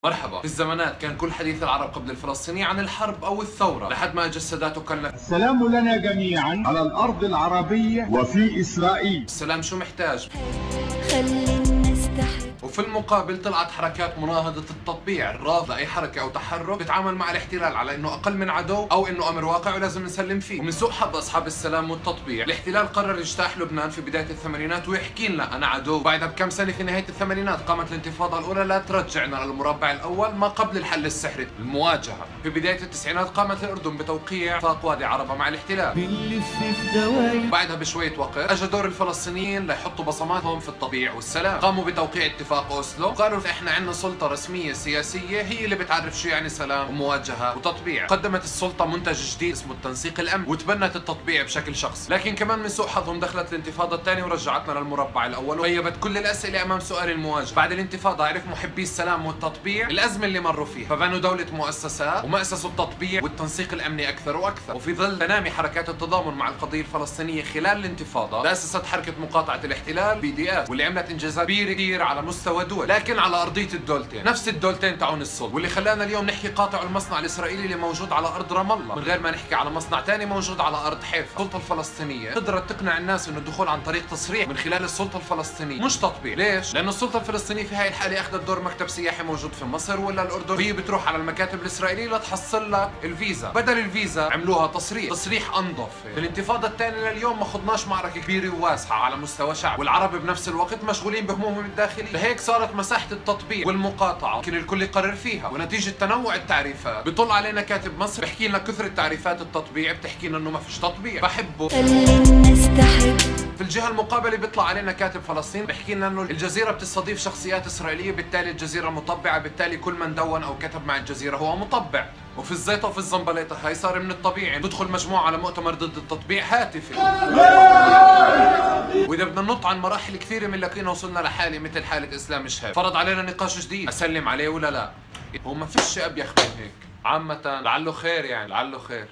مرحبا. في الزمانات كان كل حديث العرب قبل الفلسطيني عن الحرب أو الثورة، لحد ما اجى السادات وكلنا السلام لنا جميعا على الأرض العربية وفي إسرائيل. السلام شو محتاج؟ خلي الناس تحب. وفي المقابل طلعت حركات مناهضة التطبيع الرافضة أي حركة أو تحرك بتتعامل مع الاحتلال على إنه أقل من عدو أو إنه أمر واقع ولازم نسلم فيه. ومن سوء حظ أصحاب السلام والتطبيع الاحتلال قرر يجتاح لبنان في بداية الثمانينات ويحكي لنا أنا عدو. بعدها بكم سنة في نهاية الثمانينات قامت الانتفاضة الأولى لا ترجعنا للمربع الأول ما قبل الحل السحري المواجهة. في بداية التسعينات قامت الأردن بتوقيع اتفاق وادي عربة مع الاحتلال. بعدها بشوية وقت اجى دور الفلسطينيين ليحطوا بصماتهم في التطبيع والسلام. قاموا بتوقيع اتفاق اوسلو، قالوا احنا عندنا سلطة رسمية سياسية هي اللي بتعرف شو يعني سلام ومواجهة وتطبيع. قدمت السلطة منتج جديد اسمه التنسيق الامني وتبنت التطبيع بشكل شخصي، لكن كمان من سوء حظهم دخلت الانتفاضة الثانية ورجعتنا للمربع الاول وغيبت كل الاسئلة امام سؤال المواجهة. بعد الانتفاضة عرف محبي السلام والتطبيع الازمة اللي مروا فيها، فبنوا دولة مؤسسات ومأسسوا التطبيع والتنسيق الامني اكثر واكثر. وفي ظل تنامي حركات التضامن مع القضية الفلسطينية خلال الانتفاضة تأسست حركة مقاطعة الاحتلال BDS واللي عملت انجازات كبيرة كثير على مستوى دول، لكن على ارضية الدولتين، نفس الدولتين تاعون الصلب، واللي خلانا اليوم نحكي قاطعوا المصنع الاسرائيلي اللي موجود على ارض رام الله من غير ما نحكي على مصنع ثاني موجود على ارض حيفا. السلطة الفلسطينية قدرت تقنع الناس انه الدخول عن طريق تصريح من خلال السلطة الفلسطينية مش تطبيع. ليش؟ لانه السلطة الفلسطينية في هاي الحالة اخذت دور مكتب سياحي موجود في مصر ولا الاردن، وهي بتروح على المكاتب الاسرائيلية لتحصل لك الفيزا. بدل الفيزا عملوها تصريح انظف. في الانتفاضة الثانية لليوم ما خضناش معركة كبيرة وواسعة على مستوى شعب، والعرب بنفس الوقت مشغولين بهمومهم الداخلية، لهيك صارت مساحة التطبيع والمقاطعة يمكن الكل يقرر فيها. ونتيجة تنوع التعريفات بيطل علينا كاتب مصر بحكي لنا كثرة تعريفات التطبيع بتحكي لنا انه ما فيش تطبيع بحبه. خلي الناس تحب. في الجهة المقابلة بيطلع علينا كاتب فلسطين بحكي لنا انه الجزيرة بتستضيف شخصيات اسرائيلية بالتالي الجزيرة مطبعة، بالتالي كل من دون او كتب مع الجزيرة هو مطبع. وفي الزيطة وفي الزنبليطة هاي صار من الطبيعي تدخل مجموعة على مؤتمر ضد التطبيع هاتفي. واذا بدنا ننط عن مراحل كثيرة من لكينا وصلنا لحالة مثل حالة اسلام الشهاب فرض علينا نقاش جديد، اسلم عليه ولا لا؟ هو ما فيش ابيخ من هيك. عامة لعله خير، يعني لعله خير.